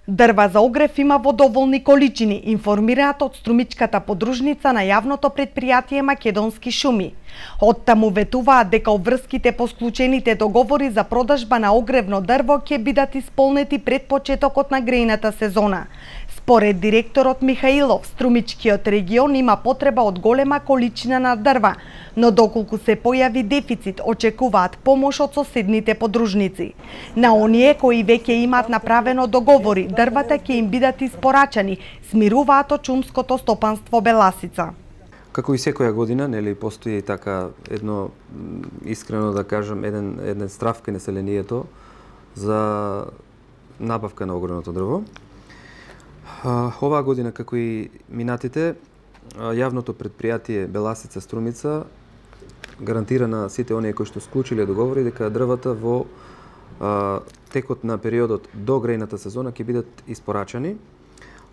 Дрва за огрев има во доволни количини, информираат од струмичката подружница на јавното претпријатие Македонски шуми. Оттаму ветуваат дека обврските по склучените договори за продажба на огревно дрво ќе бидат исполнети пред почетокот на грејната сезона. Според директорот Михаилов, струмичкиот регион има потреба од голема количина на дрва, но доколку се појави дефицит, очекуваат помош од соседните подружници. На оние кои веќе имаат направено договори, дрвата ќе им бидат испорачани, смируваат од шумското стопанство Беласица. Како и секоја година, нели, постои така едно, искрено да кажам, еден страв кај населението за набавка на огревното дрво. Оваа година, како и минатите, јавното претпријатие Беласица Струмица гарантира на сите оние кои што склучиле договори дека дрвата во текот на периодот до грејната сезона ќе бидат испорачани.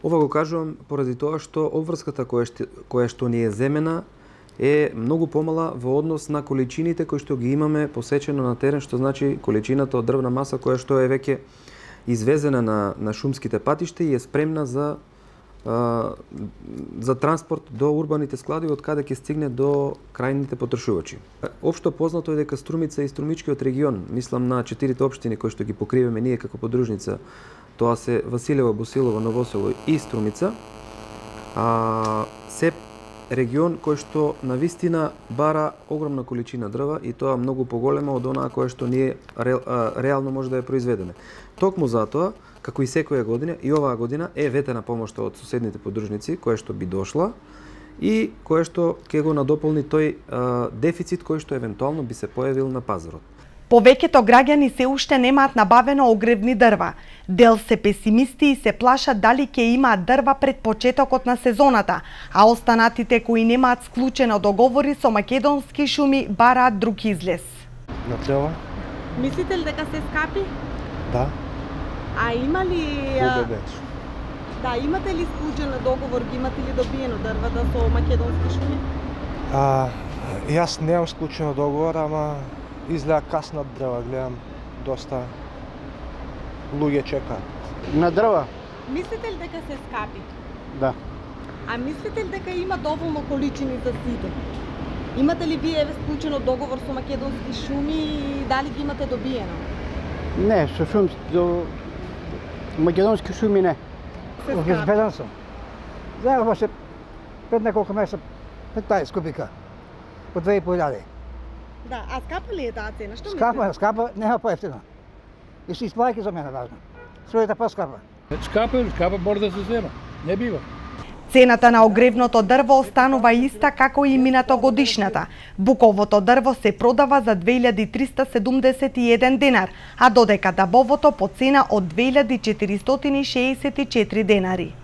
Ова го кажувам поради тоа што обврската која што ни е земена е многу помала во однос на количините кои што ги имаме посечено на терен, што значи количината од дрвна маса која што е веќе извезена на шумските патишта и е спремна за транспорт до урбаните складови од каде ќе стигне до крајните потрошувачи. Општо познато е дека Струмица и Струмичкиот регион, мислам на 4 општини кои што ги покриваме ние како подружница, тоа се Василево, Босилово, Новосело и Струмица, се регион кој што навистина бара огромна количина дрва и тоа многу поголема од онаа која што ние реално може да ја произведеме. Токму затоа, како и секоја година, и оваа година е ветена помошта од соседните подружници која што би дошла и која што ќе го надополни тој дефицит кој што евентуално би се појавил на пазарот. Повеќето граѓани се уште немаат набавено огревни дрва. Дел се песимисти и се плашат дали ќе имаат дрва пред почетокот на сезоната, а останатите кои немаат склучено договори со Македонски шуми бараат друг излез. На дрва? Мислите ли дека се скапи? Да. А има ли... Да, имате ли склучен договор, ги имате ли добиено дрвата со Македонски шуми? Јас немам склучено договор, ама изгледа каснат дрва, гледам доста луѓе чекаат. На дрва? Мислите ли дека се скапи? Да. А мислите ли дека има доволно количини за сите? Имате ли вие склучено договор со Македонски шуми и дали ги имате добиено? Не, со Македонски шуми не. Обезбеден сум. Знаеме баше пред неколку месеца 15 кубика по 2.500. Да, а скапа ли е таа цена? Што мислите? Скапа, нема поевтина. И се исплаќа за мене важно. Струјата поскапа. Скапа мора да се зема. Не бива. Цената на огревното дрво останува иста како и минатогодишната. Буковото дрво се продава за 2371 денар, а додека дабовото по цена од 2464 денари.